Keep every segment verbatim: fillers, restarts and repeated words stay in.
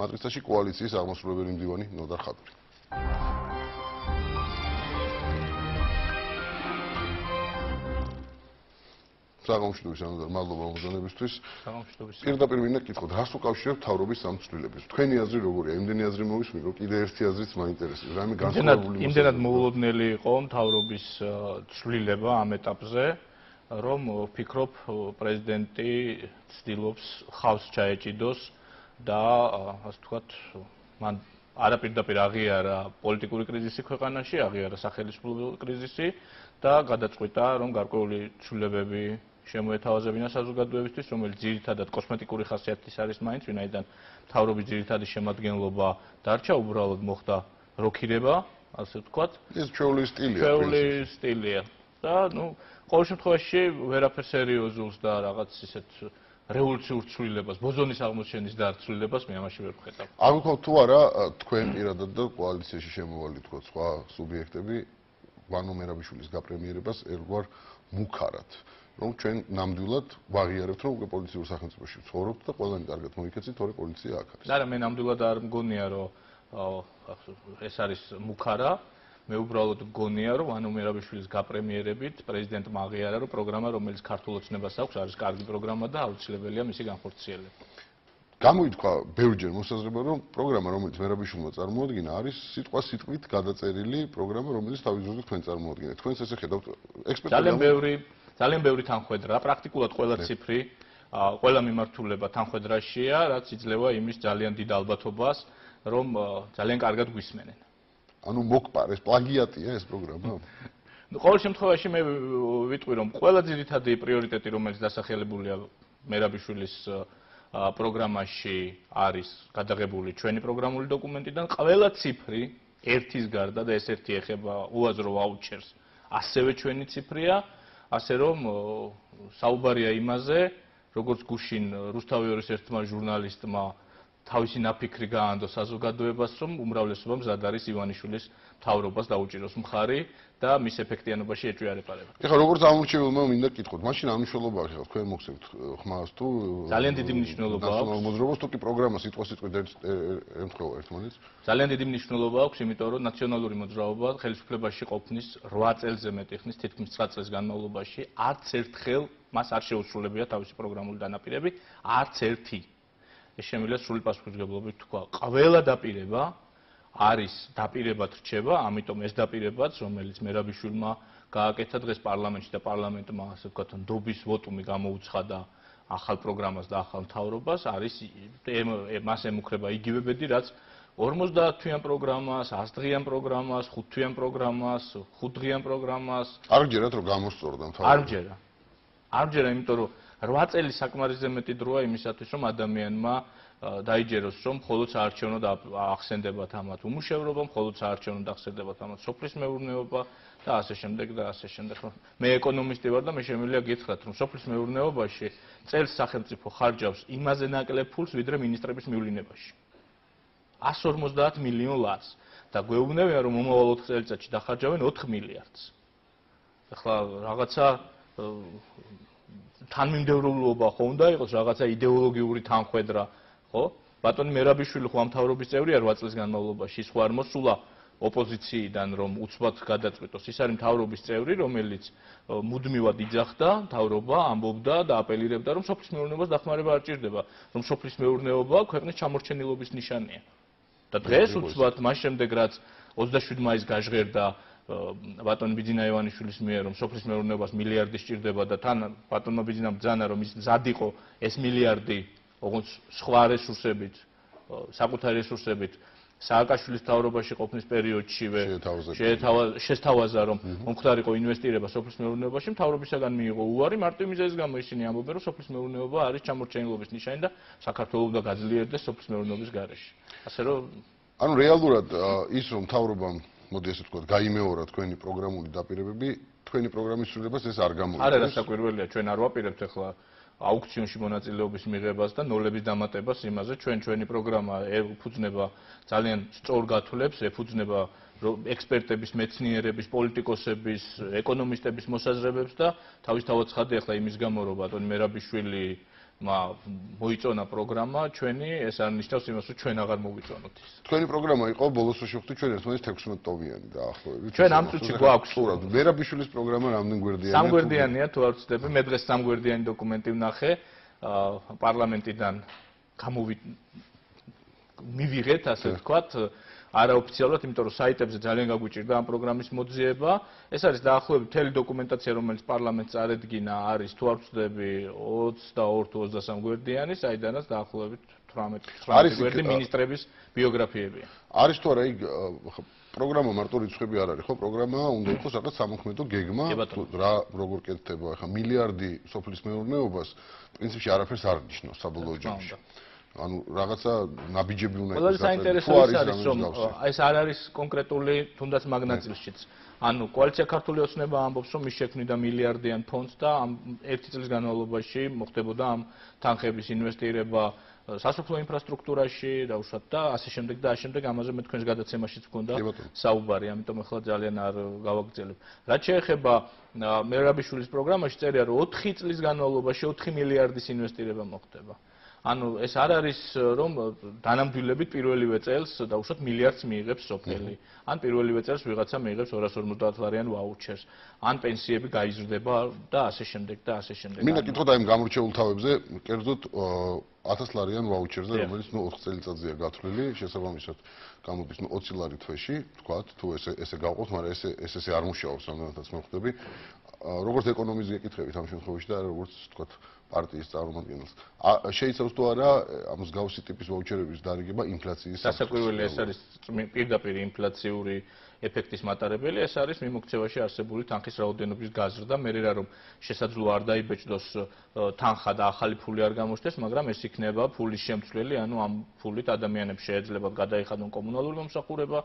მატრიცაში კოალიციის აღმასრულებელი მდივანი ნოდარ ხადური. საგამშვიდობის ანოდარ, მადლობა მოგზაურობისთვის. საგამშვიდობის. პირდაპირ მინდა გითხოთ, რას უკავშირებთ მთავრობის სამცვლელებს? თქვენი აზრი როგორია? იმდენი აზრი მოვისმინე, რომ კიდე ერთი აზრიც მაინტერესებს. რამე განსხვავებული მოსაზრება. იმდენად მოულოდნელი იყო მთავრობის ცვლილება ამ ეტაპზე, რომ ვფიქრობ, პრეზიდენტი ცდილობს ხავს ჩაეჭიდოს და ასე ვთქვათ, მან არაპირდაპირ აღიარა პოლიტიკური კრიზისი ქვეყანაში, აღიარა სახელმწიფო კრიზისი და გადაწყვიტა, რომ გარკვეული ცვლილებები შემოეთავაზებინა საზოგადოებისთვის, რომელიც ძირითადად კოსმეტიკური ხასიათის არის მაინც, ვინაიდან მთავრობის ძირითადი შემადგენლობა დარჩა, უბრალოდ მოხდა როქირება, ასე ვთქვათ. ეს ჩვეული სტილია. ჩვეული სტილია. და, ну, ყოველ შემთხვევაში ვერაფერ სერიოზულს და რაღაც ისეთ რევოლუციურ ცვლილებას, ბოზონის აღმოჩენის და ცვლილებას მე ამაში ვერ ვხედავ. აღვიქოთ თუ არა თქვენ პირადად და კოალიციაში შემოვალი თქო სხვა სუბიექტები ვანო მერაბიშვილის გაპრემიერებას ერგვარ მუქარად. რომ ჩვენ ნამდვილად ვაღიარებთ, რომ უკვე პოლიციურ სახელმწიფოში ვცხოვრობთ და ყველანი კარგად მოიქეცით, თორე პოლიცია აქ არის. არა, მე ნამდვილად არ მგონია, რომ ეს არის მუქარა. მე უბრალოდ მგონია, რომ ვანო მერაბიშვილის გაპრემიერებით პრეზიდენტმა აღიარა, რომ პროგრამა, რომელიც ქართულ ოცნებას აქვს, არის კარგი პროგრამა და აუცილებელია მისი განხორციელება. გამოითქვა ბევრჯერ მოსაზრება, რომ პროგრამა, რომელიც მერაბიშვილმა წარმოადგინა, არის სიტყვა-სიტყვით გადაწერილი პროგრამა, რომელიც თავის დროზე თქვენ წარმოადგენთ. თქვენს ესე ხედავთ ექსპერტები ძალიან ბევრი ძალიან ბევრი თანხwebdriver, პრაქტიკულად ყველა ციფრი, ყველა მიმართულება თანხwebdriverშია, რაც იძლევა იმის ძალიან დიდ ალბათობას, რომ ძალიან კარგად გვისმენენ. ანუ მოკპარ, ეს პლაგიატია ეს პროგრამა? ნუ ყოველ შემთხვევაში მე ვიტყვი, რომ ყველა ძირითადი პრიორიტეტი, რომელიც დასახელებულია მერაბიშვილის პროგრამაში არის გადაღებული ჩვენი პროგრამული დოკუმენტიდან, ყველა ციფრი ერთის გარდა და ეს ერთი ეხება უაზრო ვაუჩერს, ასევე ჩვენი ციფრია, ასე რომ საუბარია იმაზე, როგორც გუშინ რუსთავიორის ერთმა ჟურნალისტმა თავისი ნაფიქრი გაანდო საზოგადოებას, რომ უმრავლესობა მზად არის ივანიშვილის მთავრობას დაუჭიროს მხარი და მის ეფექტიანობაში ეჭვიარეპარება. ეხლა როგორც ამორჩეულმა მინდა გითხოთ, მაშინ ამ მნიშვნელობა ახლა თქვენ მოხსენებთ ხმას თუ ძალიან დიდი მნიშვნელობა აქვს. მოძრაობას თუ კი პროგრამა სიტყვა-სიტყვით ემთხვევა ერთმანეთს? ძალიან დიდი მნიშვნელობა აქვს, იმიტომ რომ ნაციონალური მოძრაობა ხელისუფლებაში ყოფნის რვა წელზე მეტი ხნის, თითქმის ცხრა წლის განმავლობაში არც ერთხელ მას არ შეუსრულებია თავისი პროგრამული დანაპირები, არც ერთი. ეს შემიძლია სრული პასუხისმგებლობით თქვა. ყველა დაპირება არის დაპირებად რჩება, ამიტომ ეს დაპირებაც, რომელიც მერაბიშვილმა გააკეთა დღეს პარლამენტში და პარლამენტმა, ასე ვთქვათ, ნდობის ვოტუმი გამოუცხადა ახალ პროგრამას და ახალ მთავრობას, არის მას ემუქრება იგივე ბედი, რაც ორმოცდაათთვიან პროგრამას, ასდღიან პროგრამას, ხუთთვიან პროგრამას, ხუთდღიან პროგრამას. არ გჯერათ რომ გამოსწორდა მთავრობა? არ მჯერა. არ მჯერა, იმიტომ რომ რვა წელი საკმარისზე მეტი დროა იმისათვის, რომ ადამიანმა დაიჯეროს, რომ მხოლოდ საარჩევნოდ ახსენდებათ ამათ უმუშევრობა, მხოლოდ საარჩევნოდ ახსენდებათ ამათ სოფლის მეურნეობა და ასე შემდეგ და ასე შემდეგ. მე ეკონომისტი ვარ და მე შემიძლია გითხრათ, რომ სოფლის მეურნეობაში წელს სახელმწიფო ხარჯავს იმაზე ნაკლებ ფულს, ვიდრე მინისტრების მივლინებაში. εκατს ორმოცდაათ მილიონ ლარს და გვეუბნებიან, რომ მომავალ ოთხ წელიწადში დახარჯავენ ოთხ მილიარდს. ახლა რაღაცა თანმიმდევრულობა ხო უნდა იყოს, რაღაცა იდეოლოგიური თანხwebdriver, ხო? ბატონი მერაბიშვილი ხო ამ მთავრობის წევრია რვა წლის განმავლობაში, ის ხო არ მოსულა ოპოზიციიდან, რომ უცბად გადაწყვიტოს. ის არის მთავრობის წევრი, რომელიც მუდმივად იძახდა მთავრობა, ამბობდა და აპელირებდა, რომ სოფლის მეურნეობას დახმარება არ ჭირდება, რომ სოფლის მეურნეობა ქვეყნის ჩამორჩენილობის ნიშანია. და დღეს უცბად მას შემდეგ რაც ოცდაშვიდი მაისს გაჟღერდა ბატონ ბიძინა ივანიშვილის მიერ, რომ სოფლის მეურნეობას მილიარდი სჭირდება და თან ბატონმა ბიძინამ ბრძანა, რომ ის მზად იყო ეს მილიარდი, ოღონდ სხვა რესურსებით, საკუთარი რესურსებით სააკაშვილის მთავრობაში ყოფნის პერიოდშივე შეესთავაზა, რომ მომხდარიყო ინვესტირება სოფლის მეურნეობაში, მთავრობისაგან მიიღო უარი, მარტო იმის გამო ისინი ამბობენ, რომ სოფლის მეურნეობა არის ჩამორჩენილობის ნიშანი და საქართველოს უნდა გაძლიერდეს სოფლის მეურნეობის გარეშე. ასე რომ ანუ რეალურად ის რომ მთავრობამ მოდი ესე ვთქვათ, გაიმეორა თქვენი პროგრამული დაპირებები, თქვენი პროგრამის სრულებას ეს არ გამოიწვევს. არა, რასაკვირველია, ჩვენ არ ვაპირებთ ახლა აუქციონში მონაწილეობის მიღებას და ნოლების დამატებას იმაზე, ჩვენ ჩვენი პროგრამა ეფუძნება ძალიან სწორ გათვლებს, ეფუძნება ექსპერტების, მეცნიერების, პოლიტიკოსების, ეკონომისტების მოსაზრებებს და თავისთავად ცხადია ახლა იმის გამო, რომ ბატონი მერაბიშვილი მოიწონა პროგრამა ჩვენი, ეს არ ნიშნავს იმას, რომ ჩვენ აღარ მოვიწონოთ ის. თქვენი პროგრამა იყო ბოლოს რო შევხვდით ჩვენ ერთმანეთს თექვსმეტ ტოვიანი დაახლოებით. ჩვენ ამ წუთში გვაქვს სწორად. მერაბიშვილის პროგრამა რამდენ გვერდიანია? სამგვერდიანია თუ არ ვცდები, მე დღეს სამგვერდიანი დოკუმენტი ვნახე პარლამენტიდან გამოვი მივიღეთ, ასე ვთქვათ, არაოფიციალურად, იმიტომ რომ საიტებზე ძალიან გაგვიჭირდა ამ პროგრამის მოძიება. ეს არის დაახლოებით მთელი დოკუმენტაცია, რომელიც პარლამენტს წარედგინა, არის თუ არ ვცდები ოცდაორი თუ ოცდასამი გვერდიანი, საიდანაც დაახლოებით თვრამეტ გვერდი მინისტრების ბიოგრაფიებია. არის თუ არა იქ პროგრამა მარტო რიცხვები არ არის, ხო? პროგრამა უნდა იყოს რაღაც სამოქმედო გეგმა, რა როგორ კეთდება, ახლა მილიარდი სოფლის მეურნეობას პრინციპში არაფერს არ ნიშნავს საბოლოო ჯამში. ანუ რაღაცა ნაბიჯები უნდა იყოს. ყველაზე საინტერესო ის არის, რომ ეს არ არის კონკრეტული თუნდაც მაგნაწილშიც. ანუ კოალიცია ქართული ოცნება ამბობს, რომ ის შექმნიდა მილიარდიან ფონდს და ამ ერთი წლის განმავლობაში მოხდებოდა ამ თანხების ინვესტირება სასოფლო ინფრასტრუქტურაში, დაუშვათ და ასე შემდეგ და ასე შემდეგ. ამაზე მე თქვენს გადაცემაშიც მქონდა საუბარი, ამიტომ ახლა ძალიან არ გავაგრძელებ. რაც შეეხება მერაბიშვილის პროგრამაში წერია, რომ ოთხი წლის განმავლობაში ოთხი მილიარდის ინვესტირება მოხდება. ანუ ეს არ არის რომ დანამდვილებით პირველივე წელს დაუშვათ მილიარდს მიიღებს სოფელი. ან პირველივე წელს ვიღაცა მიიღებს ორას ორმოცდაათ ლარიან ვაუჩერს. ან პენსიები გაიზრდება და ასე შემდეგ და ასე შემდეგ. მინდა კითხოთ აი ამ გამორჩეულ თავებზე, კერძოდ ათას ლარიან ვაუჩერზე, რომელიც ნუ ოთხ წელიწადზეა გათვლილი, შესაბამისად გამოდის ნუ ოცი ლარი თვეში, თქვათ, თუ ესე ესე გავყოთ, მაგრამ ესე ეს ესე არ მუშაობს, რამდენადაც მე ხვდები. როგორც ეკონომის გეკითხებით ამ შემთხვევაში და როგორც თქვათ პარტიის წარმომადგენელს. შეიცავს თუ არა ამ მსგავსი ტიპის ვაუჩერების დარიგება ინფლაციის სასაკვირველი ეს არის პირდაპირ ინფლაციური ეფექტის მატარებელი, ეს არის მიმოქცევაში არსებული თანხის რაოდენობის გაზრდა, მე რა რომ შესაძლოა არ დაიბეჭდოს თანხა და ახალი ფული არ გამოჩნდეს, მაგრამ ეს იქნება ფულის შემცვლელი, ანუ ამ ფულით ადამიანებს შეეძლებათ გადაიხადონ კომუნალური მომსახურება,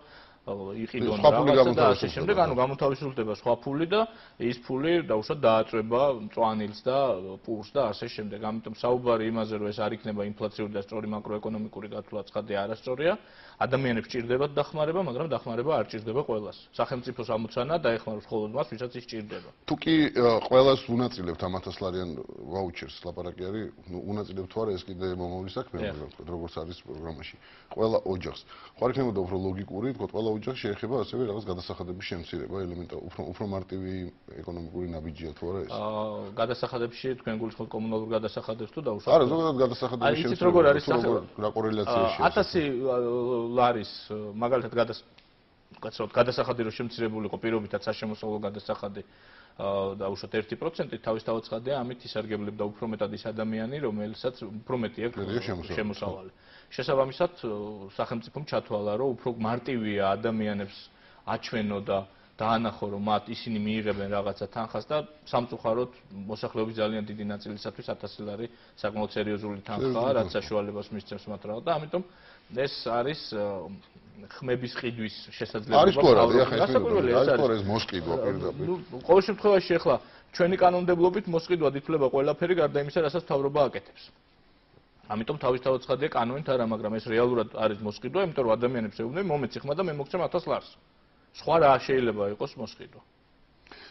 იყიდონ რაღაცა და ასე შემდეგ, ანუ გამოთავისუფლდება სხვა ფული და ის ფული დაუშვათ დააწვება მწვანილს და პურს და ასე შემდეგ. ამიტომ საუბარი იმაზე, რომ ეს არ იქნება ინფლაციური და სწორი მაკროეკონომიკური გათვლა ცხადია არასწორია. ადამიანებს ჭირდებათ დახმარება, მაგრამ დახმარება არ ჭირდება ყველას. სახელმწიფოს ამოცანა დაეხმაროს მხოლოდ მას, ვისაც ის ჭირდება. თუ კი ყველას უნაწილებთ ამ ათას ლარიან ვაუჩერს, ლაპარაკი არის, ნუ უნაწილებთ თუ არა, ეს კიდე მომავლის საქმეა, როგორც არის პროგრამაში. ყველა ოჯახს. ხო არ იქნებოდა უფრო ლოგიკური, თქო, ყველა ოჯახს შეეხება ასევე რაღაც გადასახადების შემცირება, ელემენტარული, უფრო უფრო მარტივი ეკონომიკური ნაბიჯია თუ არა ეს? აა, გადასახადებში თქვენ გულისხმობთ კომუნალურ გადასახადებს თუ დაუშვათ? არა, ზოგადად გადასახადების შემცირება. იცით როგორ არის რა კორელაციაშია? ათასი ლარის მაგალითად გადასახადი გადასახადი რო შემცირებულიყო პირობითად საშემოსავლო გადასახადი დაუშვათ ერთი პროცენტი თავისთავად ცხადია, ამით ისარგებლებდა უფრო მეტად ის ადამიანი, რომელსაც უფრო მეტი აქვს შემოსავალი. შესაბამისად, სახელმწიფომ ჩათვალა, რომ უფრო მარტივია ადამიანებს აჩვენო და დაანახო, რომ მათ ისინი მიიღებენ რაღაცა თანხას და სამწუხაროდ მოსახლეობის ძალიან დიდი ნაწილისათვის ათასი ლარი საკმაოდ სერიოზული თანხაა, რაც საშუალებას მისცემს მათ რა და ამიტომ ეს არის ხმების ყიდვის შესაძლებლობა. არის თუ არა, ახლა ეს არის თუ არა ეს მოსყიდვა პირდაპირ. ნუ ყოველ შემთხვევაში ახლა ჩვენი კანონმდებლობით მოსყიდვად ითვლება ყველაფერი გარდა იმისა, რასაც მთავრობა აკეთებს. ამიტომ თავისთავად ცხადია კანონით არა, მაგრამ ეს რეალურად არის მოსყიდვა, იმიტომ რომ ადამიანებს ეუბნები მომეცი ხმა და მე მოგცემ ათას ლარს. სხვა რა შეიძლება იყოს მოსყიდვა.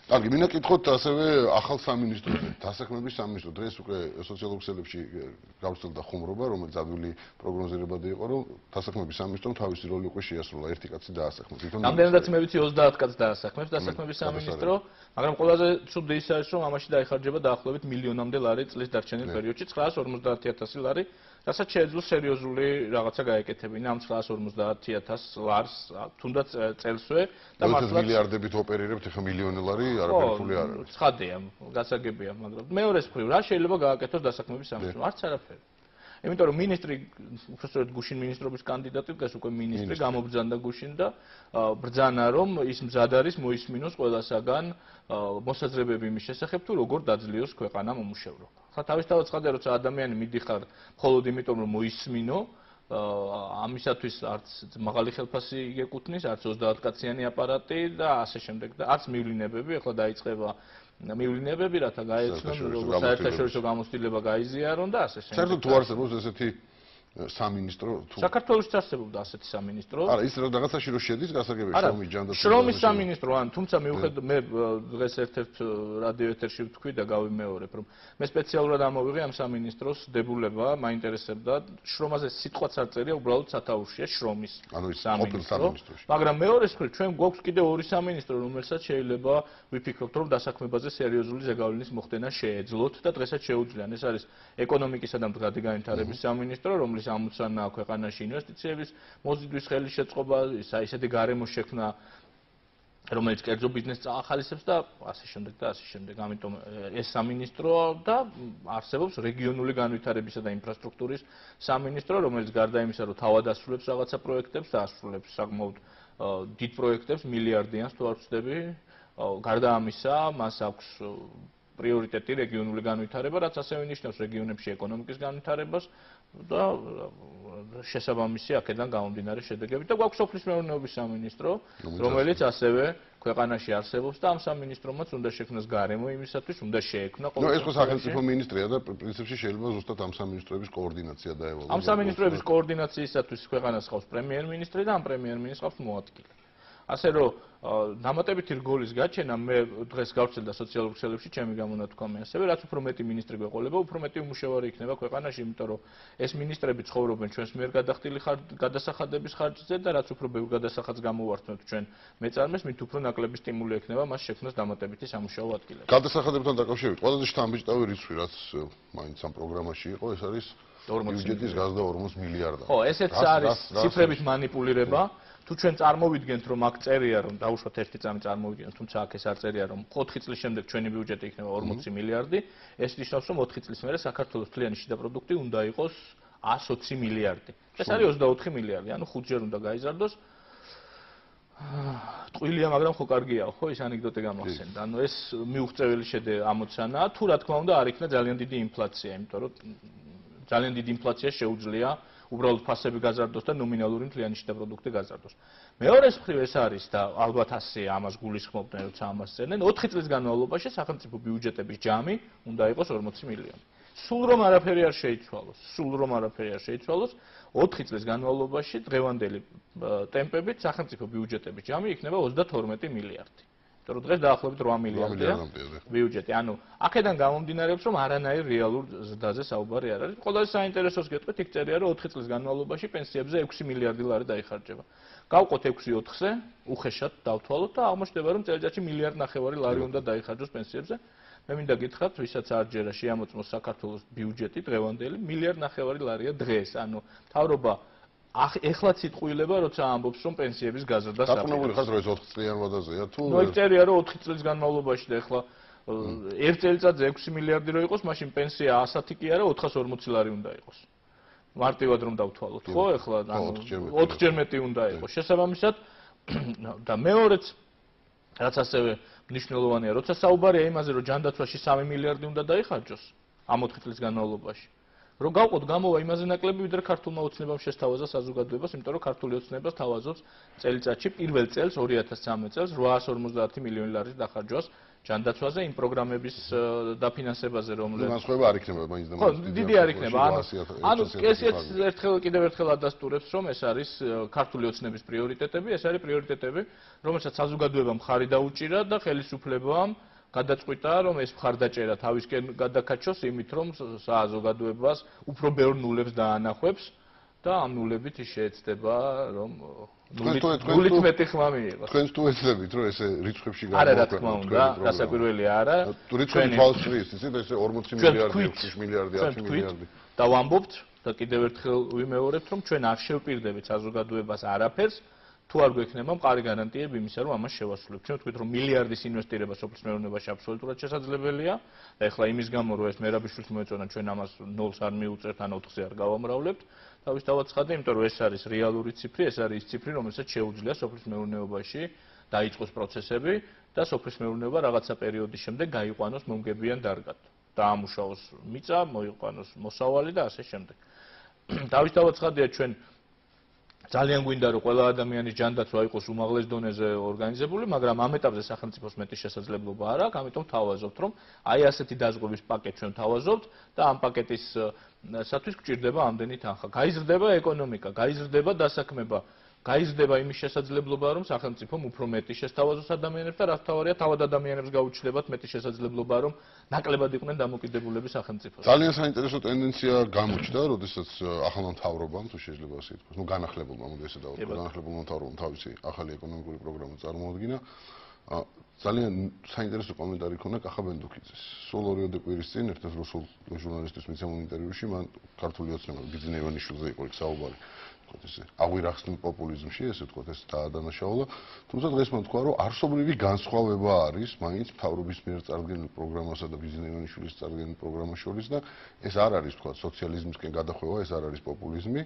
კარგი, მინდა კითხოთ ასევე ახალ სამინისტროზე, დასაქმების სამინისტრო. დღეს უკვე სოციალურ ქსელებში გავრცელდა ხუმრობა, რომელიც ადვილი პროგნოზირებადი იყო, რომ დასაქმების სამინისტრომ თავისი როლი უკვე შეასრულა, ერთი კაცი დაასახმეს. რამდენადაც მე ვიცი ოცდაათ კაცს დაასახმებს დასაქმების სამინისტრო, მაგრამ ყველაზე ცუდი ის არის, რომ ამაში დაიხარჯება დაახლოებით მილიონამდე ლარი წლის დარჩენილ პერიოდში, ცხრაას ორმოცდაათი ათასი ლარი, რასაც შეეძლო სერიოზული რაღაცა გაეკეთებინა ამ ცხრაას ორმოცდაათი ათასს ლარს, თუნდაც წელსვე და მართლაც მილიარდებით ოპერირებთ, ახლა მილიონი ლარი არაფერი ფული არ არის. ცხადია, გასაგებია, მაგრამ მეორეს მხრივ რა შეიძლება გააკეთოს დასაქმების სამინისტრომ? არც არაფერი. იმიტომ რომ ministri, უბრალოდ გუშინ ministrობის კანდიდატი დგას უკვე ministri გამობრძანდა გუშინ და ბრძანა რომ ის მზად არის მოისმინოს ყველასაგან მოსაზრებები იმის შესახებ თუ როგორ დაძლიოს ქვეყანა მომუშევრობა. ხა თავისთავად ცხადია როცა ადამიანი მიდიხარ მხოლოდ იმიტომ რომ მოისმინო ამისათვის არც მაღალი ხელფასი იგეკუთვნის, არც ოცდაათ კაციანი აპარატი და ასე შემდეგ და არც მივლინებები, ახლა დაიწყება მივლინებები, რათა გაეცნონ, რომ საერთაშორისო გამოცდილება გაიზიარონ და ასე შემდეგ. საერთოდ თუ არსებობს ესეთი სამინისტრო თუ საქართველოს არსებობდა ასეთი სამინისტრო. არა, ის რაღაცაში რო შედის გასაგებია შრომის ჯანდაცვის შრომის სამინისტრო, ან თუმცა მიუხედავად მე დღეს ერთ-ერთ რადიო ეთერში ვთქვი და გავიმეორებ, რომ მე სპეციალურად ამოვიღე ამ სამინისტროს დებულება, მაინტერესებდა, შრომაზე სიტყვაც არ წერია, უბრალოდ სათაურშია შრომის სამინისტრო. მაგრამ მეორეს მხრივ ჩვენ გვაქვს კიდევ ორი სამინისტრო, რომელსაც შეიძლება ვიფიქროთ, რომ დასაქმებაზე სერიოზული ზეგავლენის მოხდენა შეეძლოთ და დღესაც შეუძლიან. ეს არის ეკონომიკისა და მდგრადი განვითარების სამინისტრო, რომლის ამოცანა ქვეყანაში ინვესტიციების მოზიდვის ხელის შეწყობა, ისეთი გარემო შექმნა, რომელიც კერძო ბიზნესს წაახალისებს და ასე შემდეგ და ასე შემდეგ. ამიტომ ეს სამინისტრო და არსებობს რეგიონული განვითარებისა და ინფრასტრუქტურის სამინისტრო, რომელიც გარდა იმისა, რომ თავად ასრულებს რაღაცა პროექტებს და ასრულებს საკმაოდ დიდ პროექტებს, მილიარდიანს თუ არ ვცდები, გარდა ამისა, მას აქვს პრიორიტეტი რეგიონული განვითარება, რაც ასევე ნიშნავს რეგიონებში ეკონომიკის განვითარებას და შესაბამისი აქედან გამომდინარე შედეგები და გვაქვს სოფლის მეურნეობის სამინისტრო, რომელიც ასევე ქვეყანაში არსებობს და ამ სამინისტრომაც უნდა შექმნას გარემო იმისათვის, უნდა შეექმნა ყოველ ეს ხო სახელმწიფო მინისტრია და პრინციპში შეიძლება ზუსტად ამ სამინისტროების კოორდინაცია დაევალოს. ამ სამინისტროების კოორდინაციისათვის ქვეყანას ხავს პრემიერ-მინისტრი და ამ პრემიერ-მინისტრს ხავს მოადგილე. ასე რომ დამატებითი რგოლის გაჩენა მე დღეს გავვრცელდა სოციალურ ქსელებში ჩემი გამონათქვამი ასევე რაც უფრო მეტი მინისტრი გვეყოლება უფრო მეტი უმუშევარი იქნება ქვეყანაში იმიტომ რომ ეს მინისტრები ცხოვრობენ ჩვენს მიერ გადახდილი გადასახადების ხარჯზე და რაც უფრო ბევრ გადასახადს გამოვართმევთ ჩვენ მეწარმეს მით უფრო ნაკლები სტიმული ექნება მას შექმნას დამატებითი სამუშაო ადგილები. გადასახადებთან დაკავშირებით ყველაზე შთამბეჭდავი რიცხვი რაც მაინც ამ პროგრამაში იყო ეს არის ბიუჯეტის გაზრდა ორმოც მილიარდად. ხო, ესეც არის ციფრების манипуლირება. თუ ჩვენ წარმოვიდგენთ რომ აქ წერია რომ დაუშვათ ერთი წამი წარმოვიდგენთ თუმცა აქ ეს არ წერია რომ ოთხი წლის შემდეგ ჩვენი ბიუჯეტი იქნება ორმოცი მილიარდი ეს ნიშნავს რომ ოთხი წლის მერე საქართველოს თლიანი შიდა პროდუქტი უნდა იყოს ას ოცი მილიარდი ეს არის ოცდაოთხი მილიარდი ანუ ხუთჯერ უნდა გაიზარდოს ტყუილია მაგრამ ხო კარგია ხო ეს ანეკდოტე გამახსენდა ანუ ეს მიუღწეველი შედეგი ამოცანაა თუ რა თქმა უნდა არ იქნა ძალიან დიდი ინფლაცია იმიტომ რომ ძალიან დიდი ინფლაცია შეუძლია უბრალოდ ფასები გაზარდოს და ნომინალური მთლიანი შიდა პროდუქტი გაზარდოს. მეორეს მხრივ ეს არის და ალბათ ასე ამას გულისხმობდნენ როცა ამას წერდნენ ოთხი წლის განმავლობაში სახელმწიფო ბიუჯეტების ჯამი უნდა იყოს ორმოცი მილიონი. სულ რომ არაფერი არ შეიცვალოს, სულ რომ არაფერი არ შეიცვალოს, ოთხი წლის განმავლობაში დღევანდელი ტემპებით სახელმწიფო ბიუჯეტების ჯამი იქნება ოცდათორმეტი მილიარდი. იმიტომ რომ დღეს დაახლოებით რვა მილიარდია ბიუჯეტი. ანუ აქედან გამომდინარეობს რომ არანაირ რეალურ ზრდაზე საუბარი არ არის. ყველაზე საინტერესოს გეტყვით იქ წერია რომ ოთხი წლის განმავლობაში პენსიებზე ექვსი მილიარდი ლარი დაიხარჯება. გავყოთ ექვსი ოთხზე, უხეშად დავთვალოთ და აღმოჩნდება რომ წელიწადში მილიარდ ნახევარი ლარი უნდა დაიხარჯოს პენსიებზე. მე მინდა გითხრათ, ვისაც არ ჯერა შეამოწმოს საქართველოს ბიუჯეტი დღევანდელი მილიარდ ნახევარი ლარია დღეს. ანუ მთავრობა ეხლაც იტყუილება, როცა ამბობს, რომ პენსიების გაზრდა საფრთხეა. დაწუნებული ხართ, რომ ეს ოთხ წლიან ვადაზეა თუ? ნუ იქ წერია, რომ ოთხი წლის განმავლობაში და ეხლა ერთ წელიწადზე ექვსი მილიარდი რო იყოს, მაშინ პენსია ასათი კი არა, ოთხას ორმოცი ლარი უნდა იყოს. მარტივად რომ დავთვალოთ, ხო? ეხლა ანუ ოთხჯერ მეტი უნდა იყოს. შესაბამისად და მეორეც რაც ასევე მნიშვნელოვანია, როცა საუბარია იმაზე, რომ ჯანდაცვაში სამი მილიარდი უნდა დაიხარჯოს ამ ოთხი წლის განმავლობაში. რომ გავყოთ გამოვა იმაზე ნაკლები, ვიდრე ქართულმა ოცნებამ შესთავაზა საზოგადოებას, იმიტომ რომ ქართული ოცნება თავაზობს წელიწადში პირველ წელს ორი ათას ცხრამეტ წელს რვაას ორმოცდაათი მილიონი ლარის დახარჯვას ჯანდაცვაზე იმ პროგრამების დაფინანსებაზე, რომლებიც განსხვავება არ იქნება მაინც და მაინც. ხო, დიდი არ იქნება. ანუ ანუ ესეც ერთხელ კიდევ ერთხელ ადასტურებს, რომ ეს არის ქართული ოცნების პრიორიტეტები, ეს არის პრიორიტეტები, რომელსაც საზოგადოებამ ხარი დაუჭირა და ხელისუფლებამ გადაწყვიტა რომ ეს მხარდაჭერა თავისკენ გადაკაჩოს იმით რომ საზოგადოებას უფრო ბევრ ნულებს დაანახვებს და ამ ნულებით ის შეეცდება რომ ნულით მეტი ხმა მიიღოს. თქვენ თუ ეცდებით რომ ესე რიცხვებში გამოვაკლოთ. არა რა თქმა უნდა, გასაკვირველია არა. რიცხვები თვალსწრის ისე ესე ორმოცი მილიარდი, ექვსი მილიარდი, ათი მილიარდი. და ვამბობთ და კიდევ ერთხელ ვიმეორებთ რომ ჩვენ არ შევპირდებით საზოგადოებას არაფერს თუ არ გვექნება მყარი გარანტიები იმისა, რომ ამას შევასრულებთ. ჩვენ ვთქვით, რომ მილიარდის ინვესტირება სოფლის მეურნეობაში აბსოლუტურად შესაძლებელია და ეხლა იმის გამო, რომ ეს მერაბიშვილს მოეწონა, ჩვენ ამას ნულს არ მიუწერთ, ან ოთხზე არ გავამრავლებთ. თავის დავაცხადე, იმიტომ რომ ეს არის რეალური ციფრი, ეს არის ის ციფრი, რომელსაც შეუძლია სოფლის მეურნეობაში დაიწყოს პროცესები და სოფლის მეურნეობა რაღაცა პერიოდის შემდეგ გაიყვანოს მომგებიან დარგად. დაამუშავოს მიწა, მოიყვანოს მოსავალი და ასე შემდეგ. თავის დავაცხადია ჩვენ ძალიან გვინდა რომ ყველა ადამიანის ჯანდაცვა იყოს უმაღლეს დონეზე ორგანიზებული, მაგრამ ამ ეტაპზე სახელმწიფოს მეტი შესაძლებლობა არ აქვს, ამიტომ თავაზობთ, რომ აი ასეთი დაზღვევის პაკეტს ჩვენ თავაზობთ და ამ პაკეტის სათვის გვჭირდება ამდენი თანხა. გაიზრდება ეკონომიკა, გაიზრდება დასაქმება, გაიზრდება იმის შესაძლებლობა, რომ სახელმწიფომ უფრო მეტი შესთავაზოს ადამიანებს და რაც თავარია, თავად ადამიანებს გაუჩნდებათ მეტი შესაძლებლობა, რომ ნაკლებად იყვნენ დამოკიდებულები სახელმწიფოს. ძალიან საინტერესო ტენდენცია გამოჩნდა, როდესაც ახალმა მთავრობამ, თუ შეიძლება ასე ითქვას, ну განახლებულმა, მოდი ესე დავთქვა, განახლებულმა მთავრობამ თავისი ახალი ეკონომიკური პროგრამა წარმოადგინა. ძალიან საინტერესო კომენტარი ქონდა კახა ბენდუქიძეს. სულ ორიოდე კვირის წინ ერთ-ერთ რუსულ ჟურნალისტის მიცემულ ინტერვიუში მან ქართული ოცნება ბიძინა ივანიშვილზე იყო იქ საუბარი. თქო ესე აღვირახსნილ პოპულიზმში, ესე ვთქვათ, ეს დაადანაშაულა. თუმცა დღეს მან თქვა, რომ არსობრივი განსხვავება არის მაინც მთავრობის მიერ წარდგენილ პროგრამასა და ბიძინა ივანიშვილის წარდგენილ პროგრამას შორის და ეს არ არის თქვა სოციალიზმისკენ გადახვევა, ეს არ არის პოპულიზმი,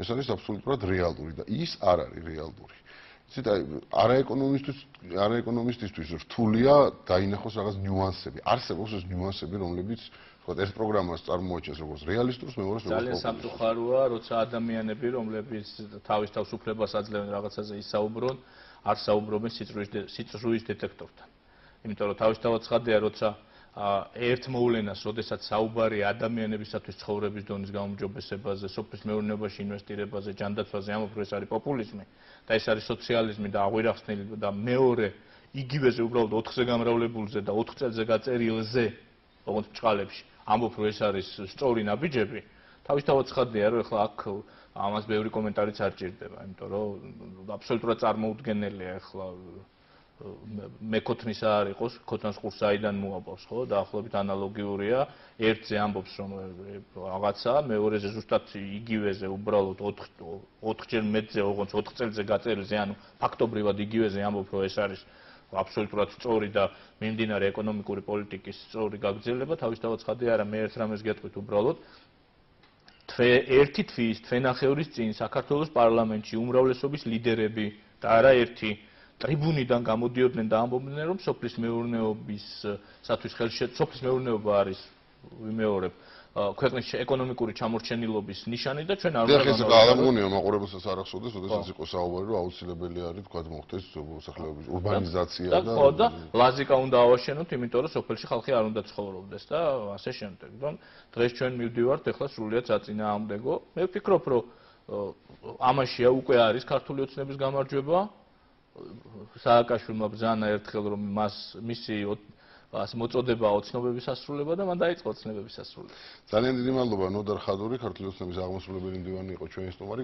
ეს არის აბსოლუტურად რეალური და ის არ არის რეალური. იცით, აი, არაეკონომისტის არაეკონომისტისთვის რთულია დაინახოს რაღაც ნიუანსები. არსებობს ეს ნიუანსები, რომლებიც ვთქვათ, ეს პროგრამას წარმოაჩენს როგორც რეალისტურს, მეორეს როგორც ძალიან სამწუხაროა, როცა ადამიანები, რომლებიც თავის თავს უფლებას აძლევენ რაღაცაზე ისაუბრონ, არ საუბრობენ სიწრუის დეტექტორთან. იმიტომ რომ თავისთავად ცხადია, როცა ერთ მოვლენას, როდესაც საუბარია ადამიანებისათვის ცხოვრების დონის გაუმჯობესებაზე, სოფლის მეურნეობაში ინვესტირებაზე, ჯანდაცვაზე, ამბობ, რომ ეს არის პოპულიზმი და ეს არის სოციალიზმი და აღვირახსნილი და მეორე იგივეზე უბრალოდ ოთხზე გამრავლებულზე და ოთხ წელზე გაწერილზე, როგორც ბჭყალებში, ამბობ, რომ ეს არის სწორი ნაბიჯები, თავისთავად ცხადია, რომ ეხლა აქ ამას ბევრი კომენტარიც არ ჭირდება, იმიტომ რომ აბსოლუტურად წარმოუდგენელია ეხლა მეკოთნის არ იყოს, ქოთანს ყურს აიდან მოაბავს, ხო? დაახლოებით ანალოგიურია, ერთზე ამბობს, რომ რაღაცა, მეორეზე ზუსტად იგივეზე უბრალოდ ოთხჯერ მეტზე, ოღონდ ოთხ წელზე გაწერილზე, ანუ ფაქტობრივად იგივეზე ამბობ, რომ ეს არის აბსოლუტურად სწორი და მიმდინარე ეკონომიკური პოლიტიკის სწორი გაგრძელება, თავისთავად ცხადია, არა მე ერთ რამეს გეტყვით უბრალოდ ერთი თვის, თვენახევრის წინ საქართველოს პარლამენტში უმრავლესობის ლიდერები და არა ერთი ტრიბუნიდან გამოდიოდნენ და ამბობდნენ, რომ სოფლის მეურნეობის სათვის ხელშეწყობა, სოფლის მეურნეობა არის ვიმეორებ ქვეყნის ეკონომიკური ჩამორჩენილობის ნიშანი და ჩვენ არ უნდა ეს გადამღონია მაყურებელსაც არ ახსოვდეს, როდესაც იყო საუბარი, რომ აუცილებელი არის თქვა მოხდეს მოსახლეობის ურბანიზაცია და და ხო და ლაზიკა უნდა ავაშენოთ, იმიტომ რომ სოფელში ხალხი არ უნდა ცხოვრობდეს და ასე შემდეგ. დღეს ჩვენ მივდივართ ეხლა სრულიად საწინააღმდეგო. მე ვფიქრობ, რომ ამაშია უკვე არის ქართული ოცნების გამარჯვება. სააკაშვილმა ბრძანა ერთხელ, რომ მას მისი ასე მოწოდება ოცნებების ასრულება და მან დაიწყო ოცნებების ასრულება. ძალიან დიდი მადლობა ნოდარ ხადური, ქართული ოცნების აღმასრულებელი მდივანი იყო ჩვენი სტუმარი.